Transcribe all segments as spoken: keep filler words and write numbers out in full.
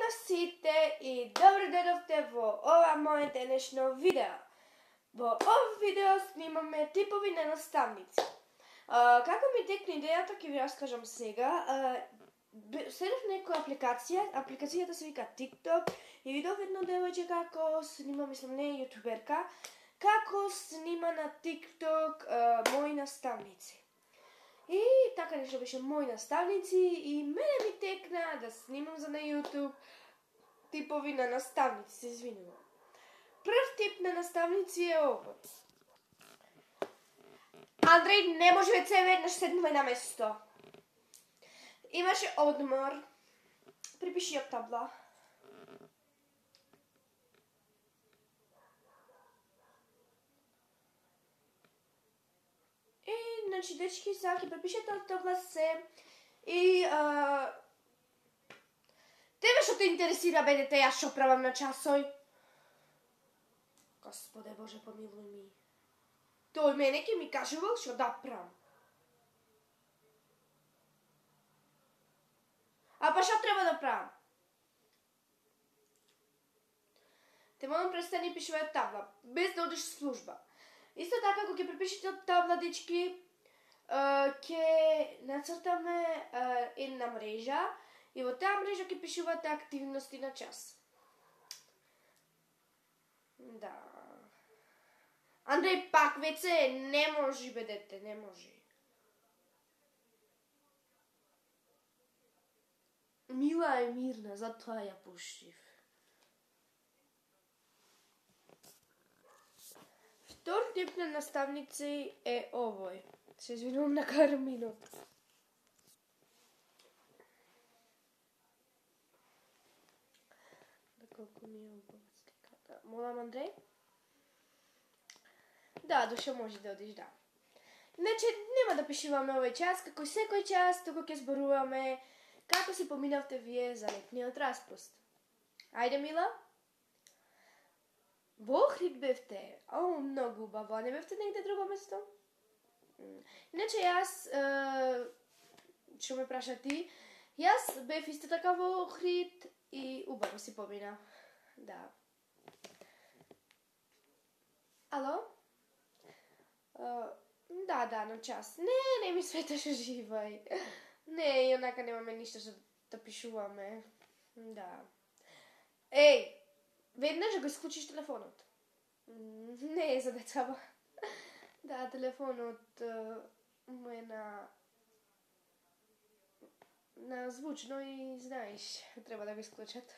на сите и добро дојдовте во ова моје денешно видео. Во ова видео снимаме типови на наставници. А, како ми текне идејата, ќе ви раскажам сега. Следев некоја апликација, апликацијата се вика TikTok и видов едно девојче како снима, мислам не е јутуберка, како снима на TikTok а, мои наставници. И така нешто беше мои наставници и мене ми текна да снимам за на YouTube типови на наставници, се извинувам. Прв тип на наставници е овој. Андреј, не може веќе веднаш седнуваме на место. Имаше одмор. Припиши ја табла. И, значи, дечки, сега ќе препишете од табла се и а... тебе што те интересира, бе, дете, јас што правам на часој? Господе Боже, помилуј ми. Тој мене ќе ми кажувал што да правам. А па што треба да правам? Те молам престани пишувај од табла, без да одиш служба. Исто така, ако ќе препишете од табла, дечки, ќе нацртаме една мрежа и во таа мрежа ќе пишувате активности на час. Да. Андреј, пак веќе не може, бе, дете, не може. Мила е мирна, затоа ја пуштив. Втор тип на наставници е овој. Се извинувам на Карминот. Да, колку ми е убава сликата. Молам, Андреј? Да, душа може да одиш, да. Значи, нема да пишуваме овој час, како и секој час, туку ќе зборуваме како си поминавте вие за летниот распуст. Ајде, Мила? Во Охрид бевте? О, многу убаво. А не бевте негде друго место? Иначе јас, што ме праша ти, јас бев исто така во Охрид и убаво си помина. Да. Ало? Uh, да, да, на час. Не, не ми светаше живај. Не, и онака немаме ништо што да пишуваме. Да. Еј, веднаш го исклучиш телефонот. Не е за децава. Да, телефонот uh, му е на на звучно и знаеш, треба да го исклучат.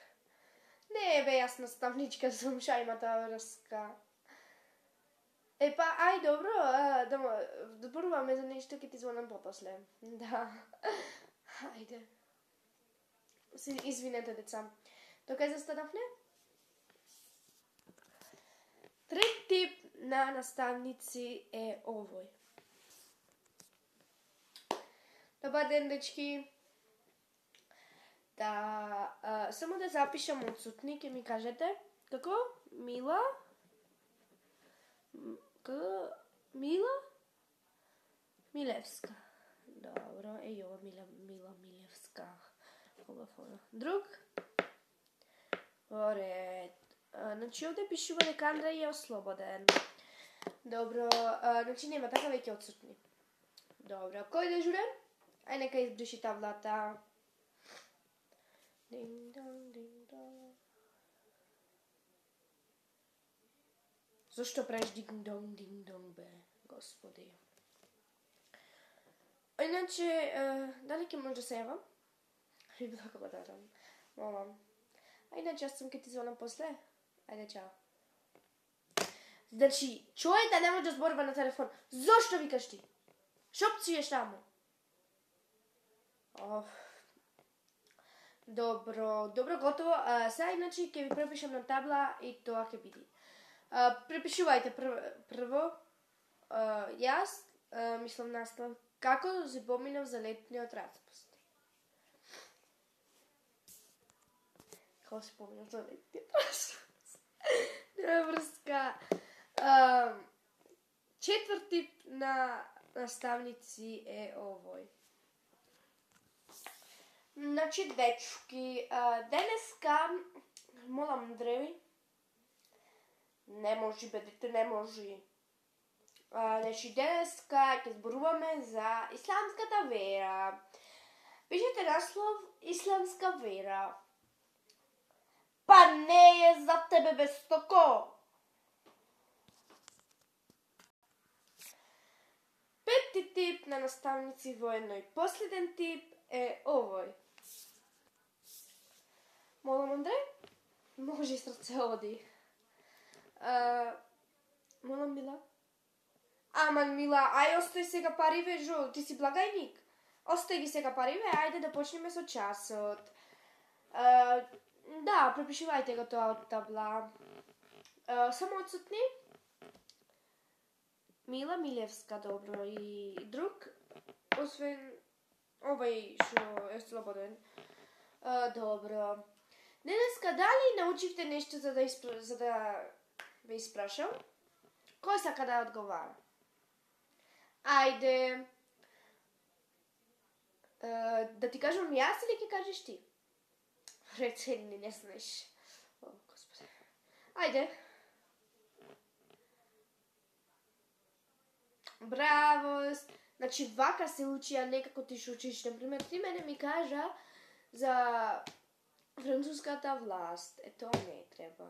Не, бе, јас наставничка сум, ша има таа врска. Е, па, ај, добро, а, да, да зборуваме за нешто, ќе ти звонам попосле. Да. Ајде. Се извинете, деца. Тока застанавме? Трет тип на наставници е овој. Добар ден, дечки. Да, а, само да запишам отсутни, ќе ми кажете. Како? Мила? К... Мила? Милевска. Добро, еј ова Мила, Мила Милевска. Хубаво. Друг? Во ред. Значи, овде пишува дека Андреј е ослободен. Добро, а, значи нема така веќе отсутни. Добро, кој дежурен? Ај нека избриши таблата. Дин-дон, дин-дон. Зошто правиш динг-донг, динг-донг, бе, господи? Иначе, дали ќе може да се јавам? Би било благодарам. Молам. А иначе, јас сум ке ти звонам после. Ајде, чао. Значи, човек не може да зборува на телефон. Зошто викаш ти? Шо пциеш таму? Оф. Добро, добро, готово. А, сега, иначе, ќе ви препишам на табла и тоа ќе биде. Uh, препишувајте прв, прво, uh, јас uh, мислам наслов како се поминав за летниот распуст. Како се поминав за летниот распуст? Нема врска. Uh, четврт тип на наставници е овој. Значи, дечки, денеска, молам Андреј, не може, бедите, не може. Значи, денеска ќе зборуваме за исламската вера. Пишете наслов исламска вера. Па не е за тебе без токо. Пети тип на наставници во едној последен тип е овој. Молам Андреј, може и срце оди. Uh, молам Мила. Аман Мила, ај остои сега париве, жо, ти си благајник. Остои ги сега париве, ајде да почнеме со часот. Uh, да, препишувајте го тоа од табла. Uh, само одсутни? Мила Милевска, добро, и друг, освен овај што е слободен. Uh, добро. Денеска дали научивте нешто за да, испра... за да ве испрашам? Кој сака да одговара? Ајде. Uh, да ти кажам јас или ќе кажеш ти? Рече ли не знаеш. О, Господи. Ајде. Браво! Значи, вака се учи, а не како ти шо учиш. Например, ти мене ми кажа за француската власт. Е, тоа не треба.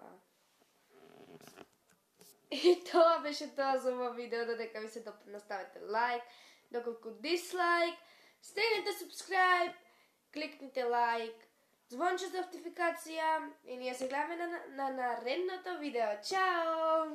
И тоа беше тоа за ова видео. Додека ви се допадна, ставете лайк, доколку дислайк, стегнете subscribe, кликнете лайк, звонче за нотификација и ние се гледаме на, на наредното видео. Чао!